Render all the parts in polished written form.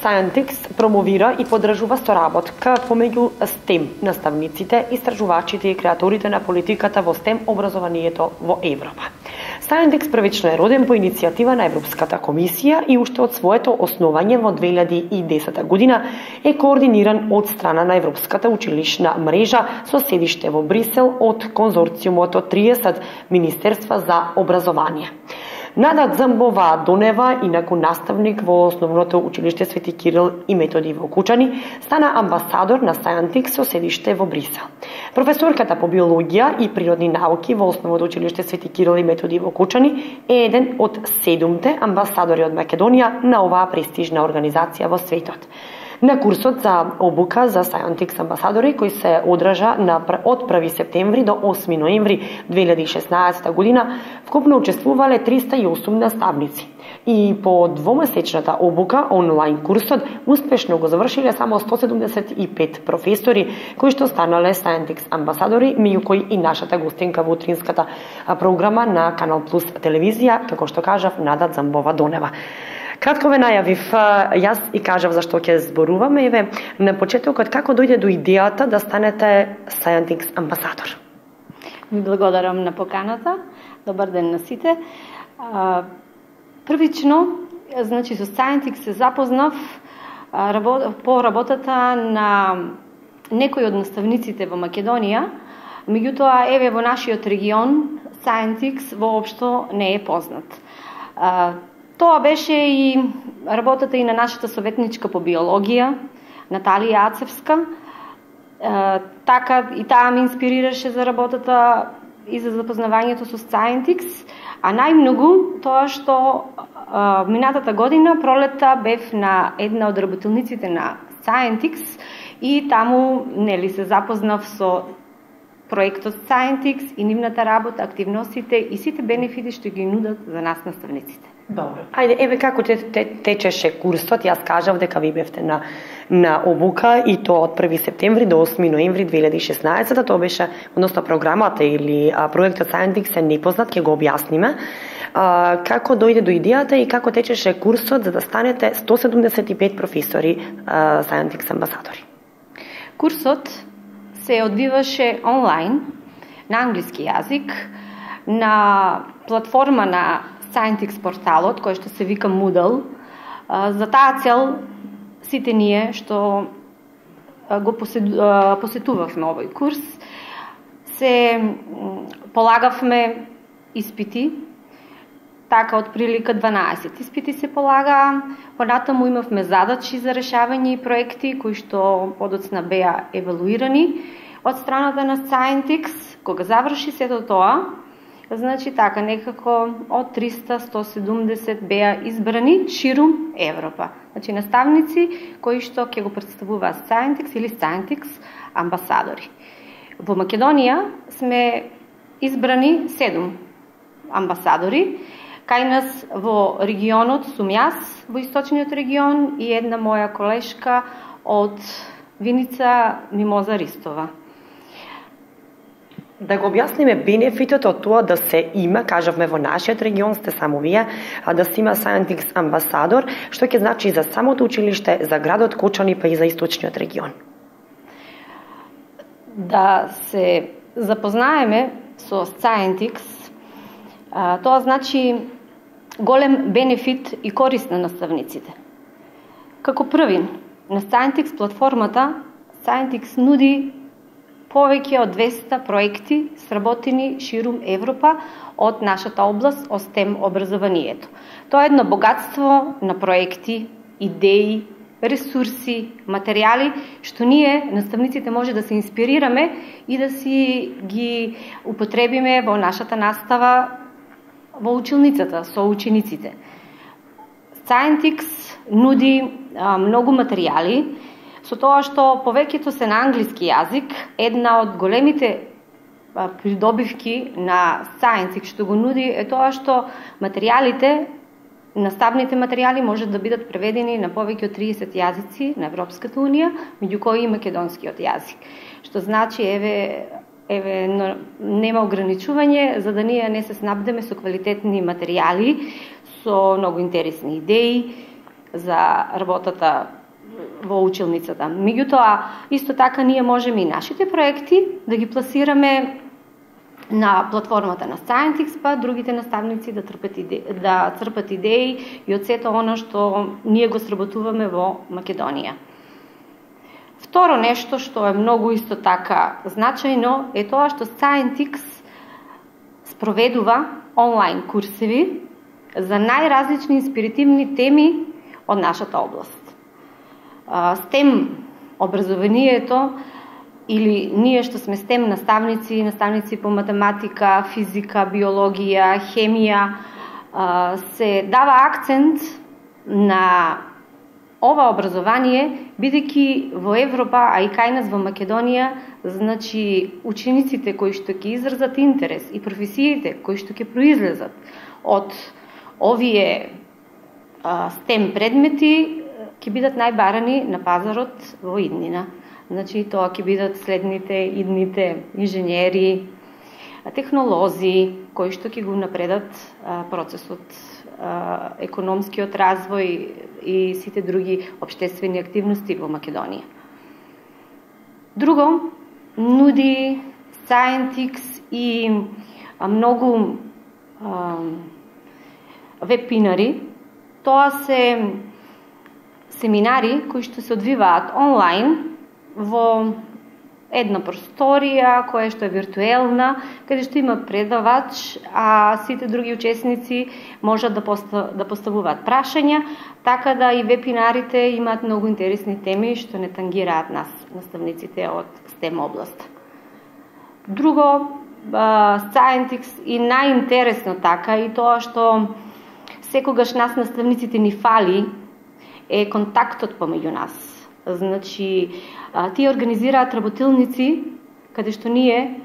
Scientix промовира и поддржува соработка помеѓу STEM наставниците, истражувачите и креаторите на политиката во STEM образованието во Европа. Scientix првично е роден по иницијатива на Европската комисија и уште од своето основање во 2010 година е координиран од страна на Европската училишна мрежа со седиште во Брисел од конзорциумот од 30 министерства за образование. Нада Дзамбова-Донева, инаку наставник во Основното училиште Свети Кирил и Методи во Кучани, стана амбасадор на Scientix со седиште во Брисел. Професорката по биологија и природни науки во Основното училиште Свети Кирил и Методи во Кучани е еден од 7 амбасадори од Македонија на оваа престижна организација во светот. На курсот за обука за Scientix амбасадори, кој се одржа од 1 септември до 8 ноември 2016 година, вкупно учествувале 308 наставници. И по двомесечната обука, онлайн курсот, успешно го завршиле само 175 професори, кои што станале Scientix амбасадори, меѓу кои и нашата гостинка во утринската програма на Канал Плюс телевизија, како што кажав, Нада Дзамбова-Донева. Кратко ве најавив, јас и кажав зашто ќе зборуваме, еве на почетокот како дојде до идејата да станете Scientix амбасадор? Ви благодарам на поканата. Добар ден на сите. Првично, значи со Scientix се запознав по работата на некои од наставниците во Македонија, меѓутоа еве во нашиот регион Scientix воопшто не е познат. Тоа беше и работата и на нашата советничка по биологија, Наталија Ацевска. Така и таа ме инспирираше за работата и за запознавањето со Scientix, а најмногу тоа што минатата година пролетта бев на една од работилниците на Scientix и таму нели се запознав со проектот Scientix и нивната работа, активностите и сите бенефити што ги нудат за нас наставниците. Добро. Ајде, еве како течеше курсот, јас кажав дека ви бевте на обука и тоа од 1 септември до 8 ноември 2016, тоа беше, односно програмата или проектот Scientix е непознат, ќе го објасниме. Како дојде до идејата и како течеше курсот за да станете 175 професори Scientix амбасадори? Курсот се одвиваше онлайн на англиски јазик на платформа на Scientix порталот, кој што се вика Moodle. За таа цел сите ние што го посетувавме овој курс, се полагавме испити, така од прилика 12 испити се полагаа, понатаму имавме задачи за решавање и проекти кои што подоцна беа евалуирани од страната на Scientix. Кога заврши сето тоа, значи така некако од 300-170 беа избрани ширум Европа. Значи наставници кои што ќе го представуваат Scientix или Scientix амбасадори. Во Македонија сме избрани 7 амбасадори. Кај нас во регионот сум јас во источниот регион и една моја колешка од Виница, Мимоза Ристова. Да го објасниме бенефитот од тоа да се има, кажавме во нашиот регион сте само вие, да се има Scientix амбасадор, што ќе значи за самото училиште, за градот Кочани, па и за источниот регион? Да се запознаеме со Scientix, тоа значи голем бенефит и корист на наставниците. Како први, на Scientix платформата, Scientix нуди повеќе од 200 проекти сработени ширум Европа од нашата област, од STEM образованието. Тоа е едно богатство на проекти, идеи, ресурси, материјали, што ние, наставниците, може да се инспирираме и да си ги употребиме во нашата настава во училницата со учениците. Scientix нуди многу материјали, со тоа што повеќето се на англиски јазик. Една од големите придобивки на Scientix што го нуди е тоа што материјалите, наставните материјали можат да бидат преведени на повеќе од 30 јазици на Европската унија, меѓу кои и македонскиот јазик. Што значи нема ограничување за да ние не се снабдеме со квалитетни материјали, со многу интересни идеи за работата во училницата. Меѓутоа, исто така ние можеме и нашите проекти да ги пласираме на платформата на Scientix, па другите наставници да црпат идеи и од сето оно што ние го сработуваме во Македонија. Второ нешто што е многу исто така значајно е тоа што Scientix спроведува онлайн курсеви за најразлични инспиративни теми од нашата област. STEM образованието или ние што сме STEM наставници по математика, физика, биологија, хемија, се дава акцент на ова образование, бидејќи во Европа, а и кај нас во Македонија, значи учениците кои што ќе изразат интерес и професиите кои што ќе произлезат од овие STEM предмети ќе бидат најбарани на пазарот во иднина. Значи тоа ќе бидат следните идните инженери, технолози кои што ќе го напредат процесот, економскиот развој и сите други општествени активности во Македонија. Друго, нуди Scientix и многу вебинари. Тоа се семинари кои што се одвиваат онлайн во една просторија која што е виртуелна, каде што има предавач, а сите други учесници можат да поставуваат прашања, така да и вебинарите имаат многу интересни теми што не тангираат нас, наставниците од STEM област. Друго, Scientix и најинтересно така и тоа што секогаш нас наставниците ни фали е контактот помеѓу нас. Значи, тие организираат работилници каде што ние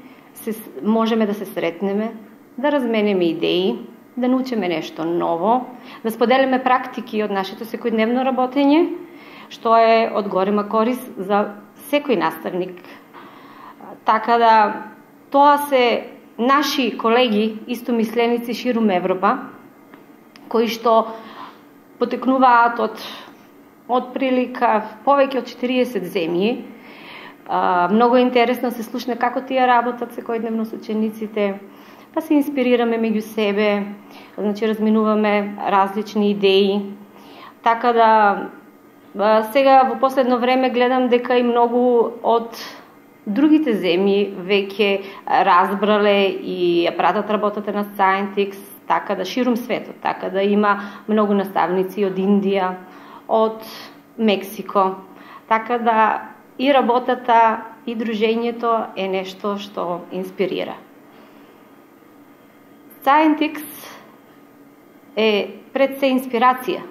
можеме да се сретнеме, да разменеме идеи, да научиме нешто ново, да споделиме практики од нашето секојдневно работење, што е од голема корист за секој наставник. Така да, тоа се наши колеги, истомисленици ширум Европа, кои што потекнуваат од прилика повеќе од 40 земји. Многу интересно се слушне како тие работат секојдневно со учениците, па се инспирираме меѓу себе, значи разминуваме различни идеи. Така да, сега во последно време гледам дека и многу од другите земји веќе разбрале и ја пратат работата на Scientix, така да ширум светот, така да има многу наставници од Индија, од Мексико. Така да и работата и дружењето е нешто што инспирира. Scientix е пред се инспирација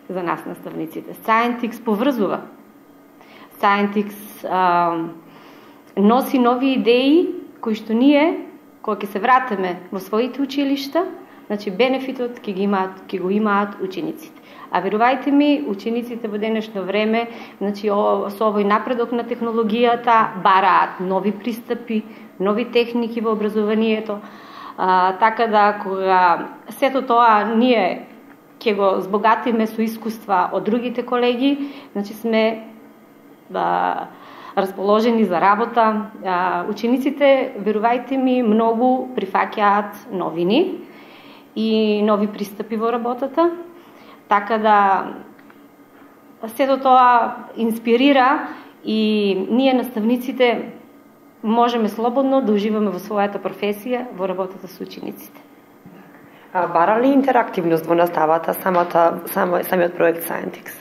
за нас наставниците. Scientix поврзува. Scientix носи нови идеи кои што ние, кога ќе се вратиме во своите училишта, значи бенефитот ќе го имаат учениците. А верувајте ми, учениците во денешно време, значи со овој напредок на технологијата, бараат нови пристапи, нови техники во образованието. Така да, кога сето тоа ние ќе го збогатиме со искуства од другите колеги, значи сме расположени за работа. Учениците, верувајте ми, многу прифаќаат новини и нови пристапи во работата. Така да сето тоа инспирира и ние наставниците можеме слободно да уживаме во својата професија, во работата со учениците. Бара ли интерактивност во наставата самиот проект Scientix?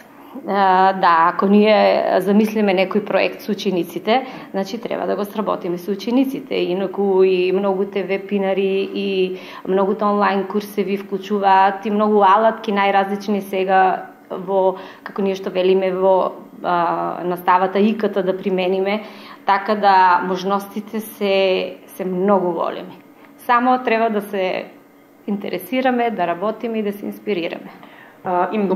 Да, ако ние замислиме некој проект со учениците, значи треба да го сработиме со учениците. Инаку и многуте вебинари и многуте онлайн курсеви вклучуваат и многу алатки најразлични сега во, како ние што велиме, во наставата ИКТ да примениме, така да можностите се многу големи. Само треба да се интересираме, да работиме и да се инспирираме. Им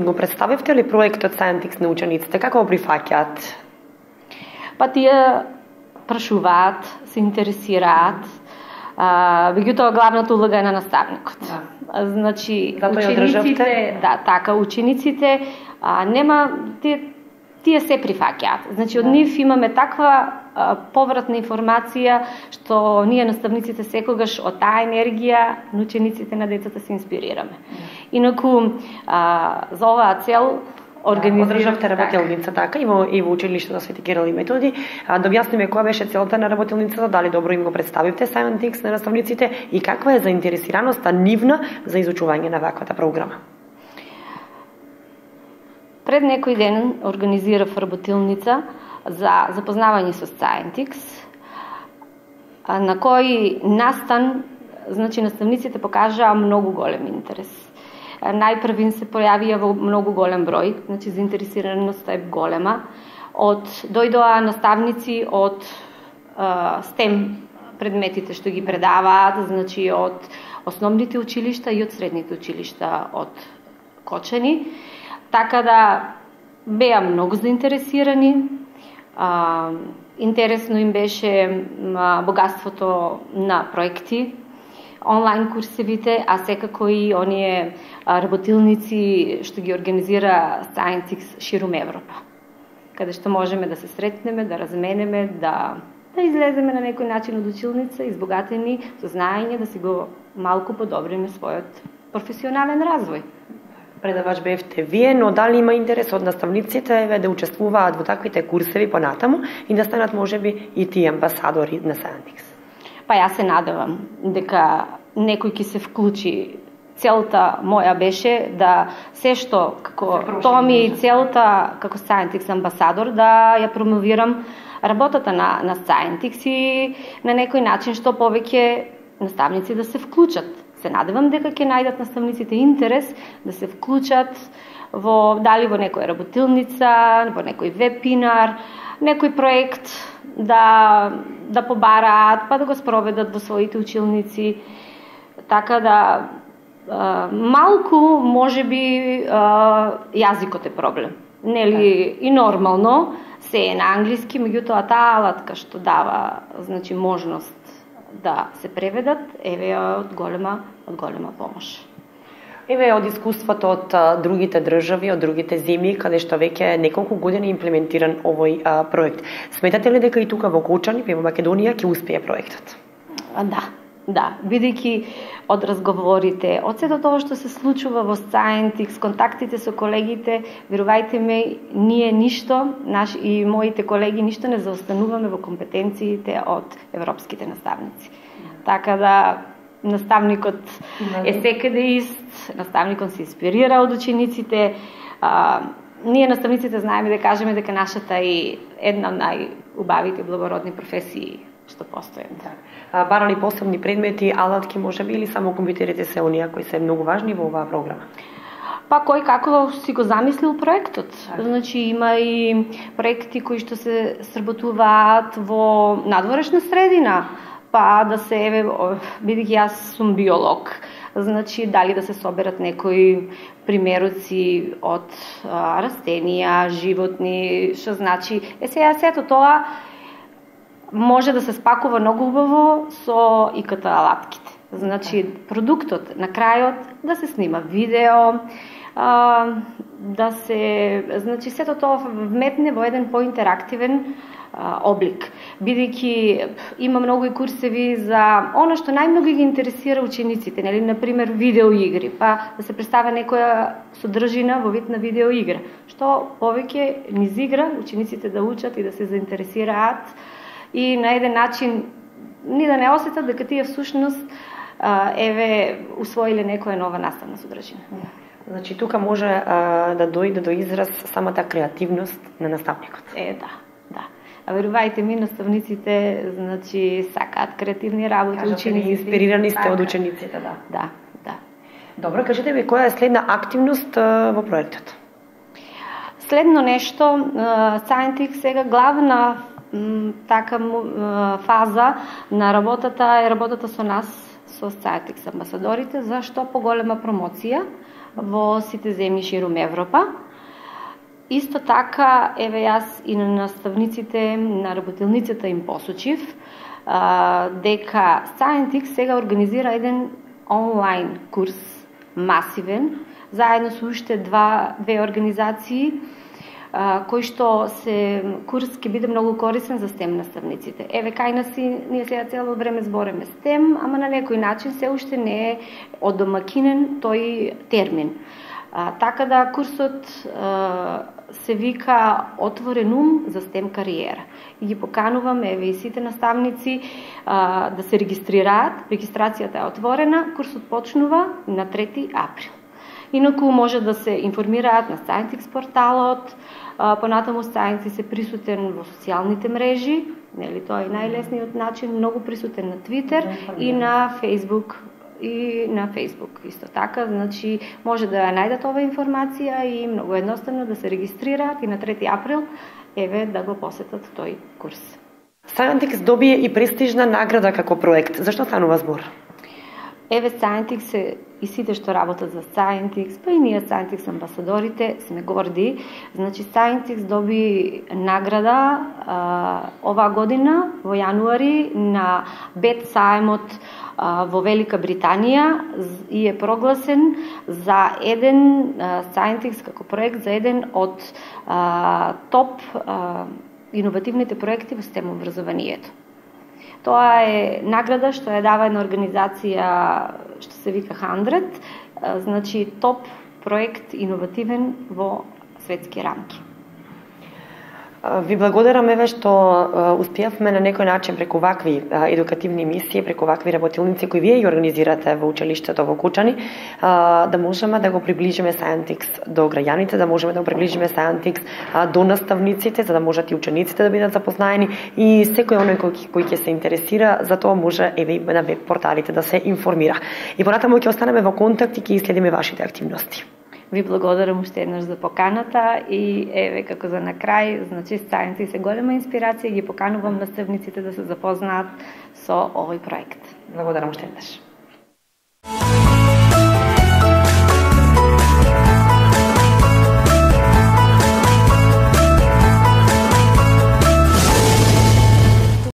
го представивте ли проектот Scientix на учениците? Како го прифаќаат? Па тие прашуваат, се интересираат. Меѓутоа главната улога е на наставникот. Да. Значи, учениците, учениците нема тие се прифаќаат. Значи од нив имаме таква повратна информација што ние наставниците секогаш од таа енергија на учениците на децата се инспирираме. Инаку за оваа цел одржавте работилница така и во училиштето Свети Кирил и Методи. Да објасниме која беше целта на работилницата, дали добро им го представивте Scientix на наставниците и каква е заинтересираноста нивна за изучување на ваквата програма? Пред некој ден организирав работилница за запознавање со Scientix, на кој настан, значи наставниците покажаа многу голем интерес. Најпрвин се појавија во многу голем број, значи заинтересираноста е голема. Дојдоа наставници од STEM предметите што ги предаваат, значи од основните училишта и од средните училишта од Кочани. Така да беа многу заинтересирани. Интересно им беше богатството на проекти, онлайн курсевите, а секако и оние работилници што ги организира Scientix ширум Европа, каде што можеме да се сретнеме, да разменеме, да излеземе на некој начин од училница, избогатени со знаење, да си го малку подобриме својот професионален развој. Предавач бевте вие, но дали има интерес од наставниците да учествуваат во таквите курсеви понатаму и да станат можеби и тие амбасадори на Scientix? Па јас се надевам дека некој ќе се вклучи. Целта моја беше да се што како тоа ми е целта како Scientix амбасадор, да ја промовирам работата на Scientix и на некој начин што повеќе наставници да се вклучат. Се надевам дека ќе најдат наставниците интерес да се вклучат дали во некоја работилница, во некој вебинар, некој проект да побараат, па да го спроведат во своите училници. Така да малку можеби јазикот е проблем. Нели и нормално се е на англиски, меѓутоа таа алатка што дава, значи можност да се преведат, еве од голема помош. Еве од искуството од другите држави, од другите земји, каде што веќе неколку години имплементиран овој проект. Сметате ли дека и тука во Кочани, во Македонија, ќе успее проектот? Да, бидејќи од разговорите, од сето тоа што се случува во Scientix, контактите со колегите, верувајте ме, ние ништо, и моите колеги ништо не заостануваме во компетенциите од европските наставници. Така да наставникот е секаде ист, наставникот се инспирира од учениците. Ние наставниците знаеме да кажеме дека нашата е една од најубавите благородни професии што постои. Барали посебни предмети, алатки можеби или само компјутерите се оние кои се многу важни во оваа програма? Па кој како си го замислил проектот. Значи има и проекти кои што се сработуваат во надворешна средина, па да се бидејќи јас сум биолог, значи дали да се соберат некои примероци од растенија, животни, што значи сето тоа може да се спакува многу убаво со ИКТ алатките. Значи продуктот на крајот да се снима видео, да се, значи сето тоа вметне во еден поинтерактивен облик. Бидејќи има многу и курсеви за она што најмногу ги интересира учениците, нели, на пример видеоигри, па да се представа некоја содржина во вид на видеоигра, што повеќе низ игра учениците да учат и да се заинтересираат и на еден начин ни да не осетат дека тие всушност усвоиле некоја нова наставна содржина. Значи тука може да дојде до израз самата креативност на наставникот. Да. А верувајте ми, наставниците, значи, сакаат креативни работи, ученици. Инспирирани сте од учениците, Да. Добро, кажете ми, која е следна активност во проектот? Следно нешто, Scientix сега главна фаза на работата е работата со нас, со Scientix амбасадорите, за што поголема промоција во сите земји ширум Европа. Исто така, јас и на наставниците на работилницата им посочив дека Scientix сега организира еден онлайн курс, масивен, заедно со уште две организации, кој што курс ќе биде многу корисен за STEM наставниците. Еве кај нас ние сега цело време збореме STEM, ама на некој начин се уште не е одомакинен тој термин. Така да курсот се вика Отворен ум за STEM кариера. И ги поканувам, еве и сите наставници да се регистрираат. Регистрацијата е отворена, курсот почнува на 3 април. Инаку може да се информираат на Scientix порталот, понатаму Scientix се присутен во социјалните мрежи, нели тоа е најлесниот начин, многу присутен на Twitter и на Facebook. Исто така, значи може да ја најдат ова информација и многу едноставно да се регистрираат и на 3 април еве да го посетат тој курс. Scientix добие и престижна награда како проект. Зашто станува збор? Еве Scientix и сите што работат за Scientix, па и ние Scientix амбасадорите сме горди. Значи Scientix доби награда оваа година во јануари на Бет сајмот во Велика Британија и е прогласен за еден Scientix како проект за еден од топ иновативните проекти во STEM образованието. Тоа е награда што ја дава една организација што се вика 100, значи топ проект иновативен во светски рамки. Ви благодарам еве што успеавме на некој начин преку вакви едукативни мисии, преку вакви работилници кои вие ги организирате во училиштето во Кучани, да можеме да го приближиме Scientix до граѓаните, да можеме да го приближиме Scientix до наставниците, за да можат и учениците да бидат запознаени и секој оној кој ќе се интересира, за тоа може еве на веб порталите да се информира. И понатаму ќе останеме во контакт и ќе следиме вашите активности. Ви благодарам уште еднаш за поканата и еве како за на крај, значи Scientix е голема инспирација и ги поканувам наставниците да се запознаат со овој проект. Благодарам уште еднаш.